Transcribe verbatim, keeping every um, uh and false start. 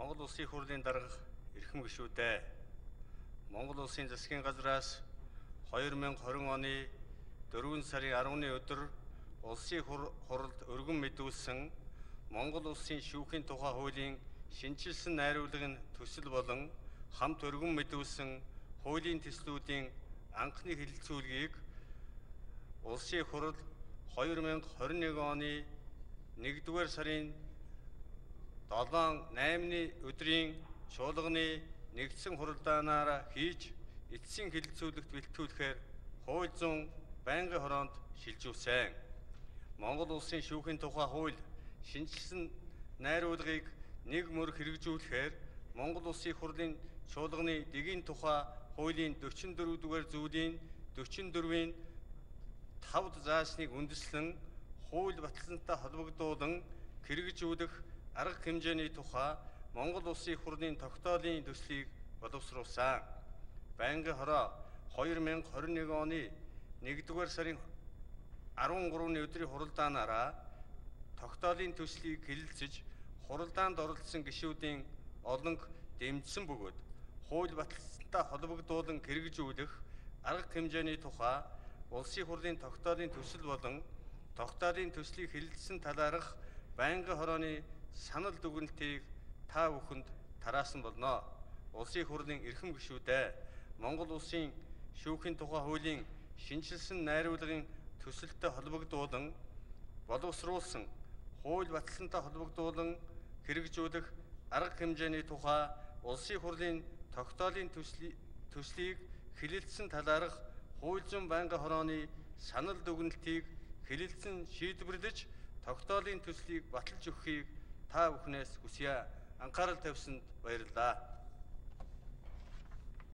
Монгол Улсын их хурлын дарга эрхэм гишүүдээ Монгол Улсын засгийн газраас хоёр мянга хорин оны дөрвөн сарын арваны өдөр Улсын хурлд өргөн мэдүүлсэн Монгол Улсын шүүхийн тухай хуулийн шинжилсэн найруулгын төсөл болон хамт өргөн мэдүүлсэн хуулийн төслүүдийн анхны хэлэлцүүлгийг Улсын хурл хоёр мянга хорин нэг оны нэгдүгээр сарын долоон наймны өдрийн чуулганы нэгдсэн хуралдаанаар хийж эцсийн хэлэлцүүлэгт бэлтгүүлэхээр хууль зүйн байнгын хороонд шилжүүлсэн. Монгол Улсын шүүхийн тухай хууль шинжилсэн найруулгыг нэг мөр хэрэгжүүлэхээр Монгол Улсын их хурлын чуулганы дэгийн тухай хуулийн дөрвөн дөрвөн-р зүйлийн дөрвөн дөрвийн тав заасныг үндэслэн хууль баталсантай холбогдуулан хэрэгжүүлэх арга хэмжээний тухай Монгол Улсын их хурлын тогтоолын төслийг боловсруулсан. Байнгын хороо хоёр мянга хорин нэг оны нэгдүгээр сарын арван гурваны өдрийн хуралдаанаараа тогтоолын төслийг хэлэлцэж хуралдаанд оролцсон гишүүдийн олонх дэмжсэн бөгөөд хууль баталсантай холбогдуулан хэрэгжүүлэх арга хэмжээний тухай Улсын хурлын тогтоолын төсөл болон тогтоолын төслийг хэлэлцсэн талаарх байнгын хорооны санал дүгнэлтийг та бүхэнд тараасан болно. Улсын хурлын эрхэм гишүүдээ Монгол Улсын шүүхийн тухай хуулийн шинжилсэн найруулгын төсөлтэй холбогдуулан боловсруулсан хууль баталсантай холбогдуулан хэрэгжүүлэх арга хэмжээний тухай Улсын хурлын тогтоолын төслийг хэлэлцсэн талаарх хууль зүйн байнгын хорооны санал дүгнэлтийг хэлэлцэн шийдвэрлэж тогтоолын төслийг баталж өгөхийг та бүхнээс хүсье. Анхаарал тавьсанд баярлалаа.